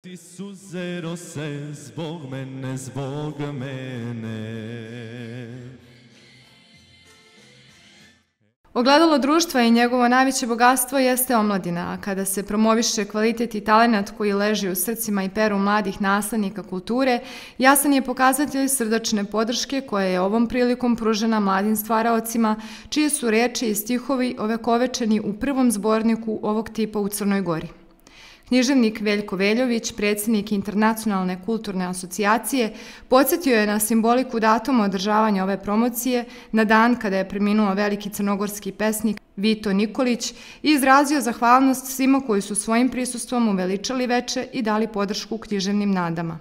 Ti suze rose zbog mene, zbog mene. Ogledalo društva i njegovo najveće bogatstvo jeste omladina, a kada se promoviše kvalitet i talenat koji leži u srcima i peru mladih naslednika kulture, jasan je pokazatelj srdačne podrške koja je ovom prilikom pružena mladim stvaraocima, čije su reči i stihovi ovekovečeni u prvom zborniku ovog tipa u Crnoj Gori. Književnik Veljko Veljović, predsjednik Internacionalne kulturne asocijacije, podsjetio je na simboliku datuma održavanja ove promocije na dan kada je preminuo veliki crnogorski pesnik Vito Nikolić i izrazio zahvalnost svima koji su svojim prisustvom uveličali veče i dali podršku književnim nadama.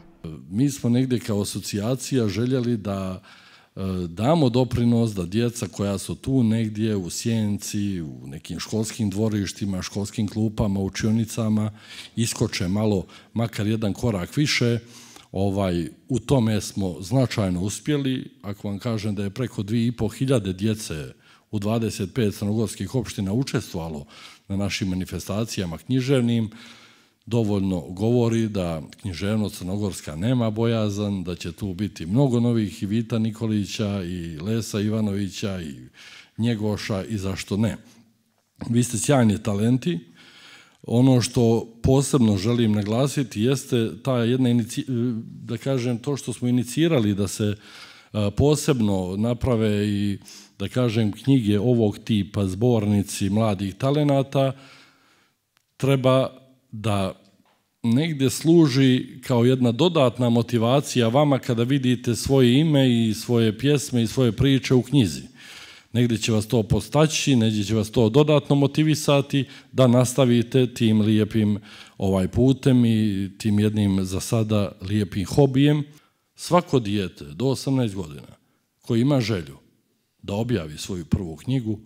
Mi smo negdje kao asocijacija željeli da damo doprinos da djeca koja su tu negdje u sjenci, u nekim školskim dvorištima, školskim klupama, učionicama, iskoče malo, makar jedan korak više. U tome smo značajno uspjeli. Ako vam kažem da je preko 2500 djece u 25 crnogorskih opština učestvovalo na našim manifestacijama književnim, dovoljno govori da književnost crnogorska nema bojazan, da će tu biti mnogo novih i Vita Nikolića i Lesa Ivanovića i Njegoša i zašto ne. Vi ste sjajni talenti. Ono što posebno želim naglasiti jeste ta jedna, da kažem, to što smo inicirali da se posebno naprave i, da kažem, knjige ovog tipa, zbornici mladih talenata, treba da negdje služi kao jedna dodatna motivacija vama kada vidite svoje ime i svoje pjesme i svoje priče u knjizi. Negdje će vas to postaći, negdje će vas to dodatno motivisati da nastavite tim lijepim putem i tim jednim za sada lijepim hobijem. Svako dijete do 18 godina koji ima želju da objavi svoju prvu knjigu,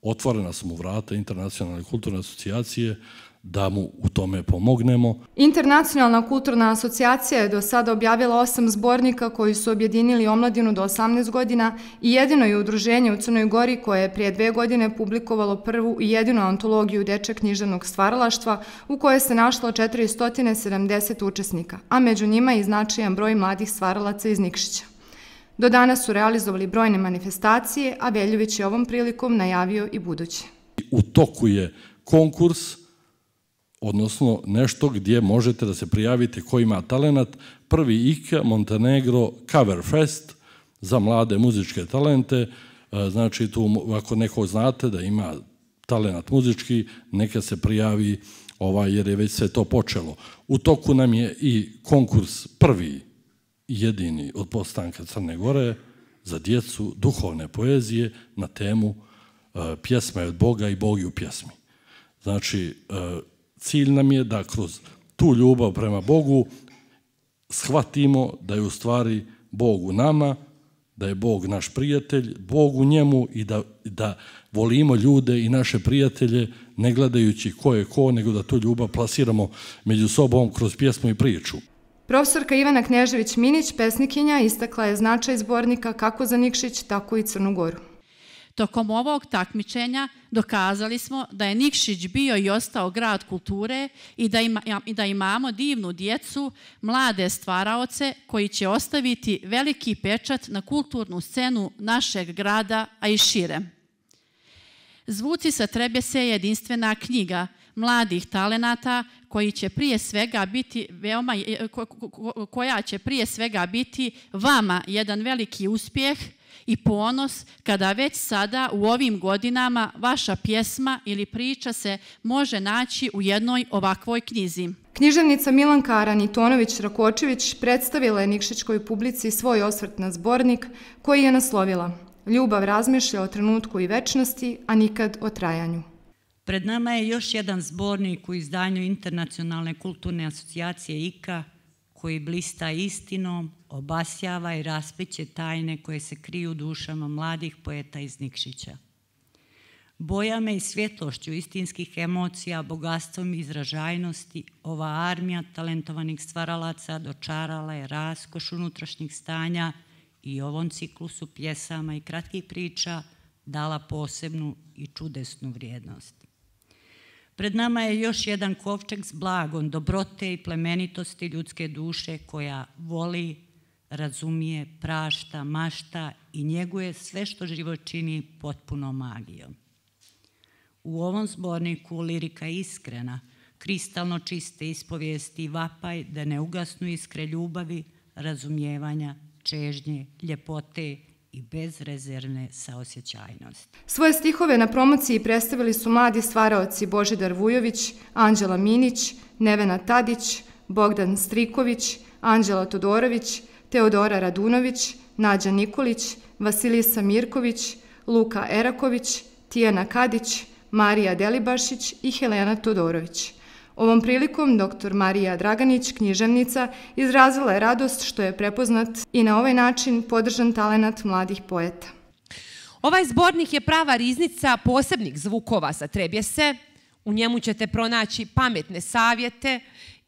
otvorena su mu vrata Internacionalne kulturne asocijacije da mu u tome pomognemo. Internacionalna kulturna asocijacija je do sada objavila 8 zbornika koji su objedinili omladinu do 18 godina i jedino je udruženje u Crnoj Gori koje je prije 2 godine publikovalo prvu i jedinu antologiju dečjeg književnog stvaralaštva u kojoj se našlo 470 učesnika, a među njima i značajan broj mladih stvaralaca iz Nikšića. Do danas su realizovali brojne manifestacije, a Veljović je ovom prilikom najavio i buduće. U toku je konkurs, odnosno nešto gdje možete da se prijavite ko ima talenat, prvi IKA Montenegro Cover Fest za mlade muzičke talente. Znači tu ako neko znate da ima talenat muzički, neka se prijavi jer je već sve to počelo. U toku nam je i konkurs prvi i jedini od postanka Crne Gore za djecu duhovne poezije na temu Pjesma je od Boga i Bog je u pjesmi. Znači, cilj nam je da kroz tu ljubav prema Bogu shvatimo da je u stvari Bog u nama, da je Bog naš prijatelj, Bog u njemu i da volimo ljude i naše prijatelje ne gledajući ko je ko, nego da tu ljubav plasiramo među sobom kroz pjesmu i priču. Profesorka Ivana Knežević-Minić, pesnikinja, istakla je značaj zbornika kako za Nikšić, tako i Crnu Goru. Tokom ovog takmičenja dokazali smo da je Nikšić bio i ostao grad kulture i da imamo divnu djecu, mlade stvaraoce koji će ostaviti veliki pečat na kulturnu scenu našeg grada, a i šire. Zvuci sa Trebese je jedinstvena knjiga mladih talenata koja će prije svega biti vama jedan veliki uspjeh i ponos kada već sada u ovim godinama vaša pjesma ili priča se može naći u jednoj ovakvoj knjizi. Književnica Milanka Aranitonović-Rakočević predstavila je nikšićkoj publici svoj osvrt na zbornik koji je naslovila Ljubav razmišlja o trenutku i večnosti, a nikad o trajanju. Pred nama je još jedan zbornik u izdanju Internacionalne kulturne asocijacije IKA koji blista istinom, obasjava i raspliće tajne koje se kriju u dušama mladih poeta iz Nikšića. Bojama i svjetlošću istinskih emocija, bogatstvom i izražajnosti, ova armija talentovanih stvaralaca dočarala je raskoš unutrašnjih stanja i ovom ciklusu pjesama i kratkih priča dala posebnu i čudesnu vrijednost. Pred nama je još jedan kovčeg s blagom dobrote i plemenitosti ljudske duše koja voli, razumije, prašta, mašta i njeguje sve što život čini potpuno magijom. U ovom zborniku lirika iskrena, kristalno čiste ispovijesti i vapaj da ne ugasnu iskre ljubavi, razumijevanja, čežnje, ljepote i bezrezervne saosjećajnosti. Svoje stihove na promociji predstavili su mladi stvaraoci Božidar Vujović, Anđela Minić, Nevena Tadić, Bogdan Striković, Anđela Todorović, Teodora Radunović, Nađa Nikolić, Vasilisa Mirković, Luka Eraković, Tijana Kadić, Marija Delibašić i Helena Todorović. Ovom prilikom dr. Marija Draganić, književnica, izrazila je radost što je prepoznat i na ovaj način podržan talenat mladih poeta. Ovaj zbornik je prava riznica posebnih zvukova sa Trebjese. U njemu ćete pronaći pametne savjete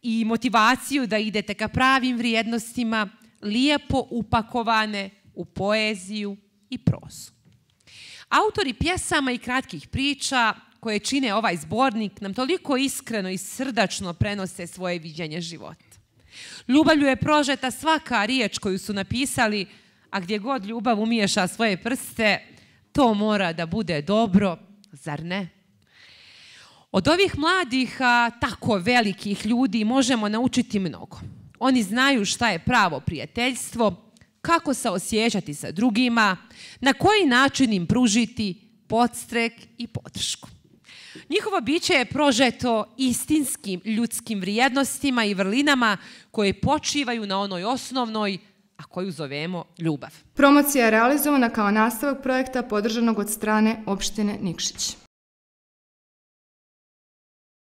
i motivaciju da idete ka pravim vrijednostima, lijepo upakovane u poeziju i prozu. Autori pjesama i kratkih priča koje čine ovaj zbornik nam toliko iskreno i srdačno prenose svoje viđenje života. Ljubavlju je prožeta svaka riječ koju su napisali, a gdje god ljubav umiješa svoje prste, to mora da bude dobro, zar ne? Od ovih mladih, tako velikih ljudi možemo naučiti mnogo. Oni znaju šta je pravo prijateljstvo, kako se osjećati sa drugima, na koji način im pružiti podstrek i podršku. Njihovo biće je prožeto istinskim ljudskim vrijednostima i vrlinama koje počivaju na onoj osnovnoj, a koju zovemo ljubav. Promocija je realizovana kao nastavak projekta podržanog od strane opštine Nikšić.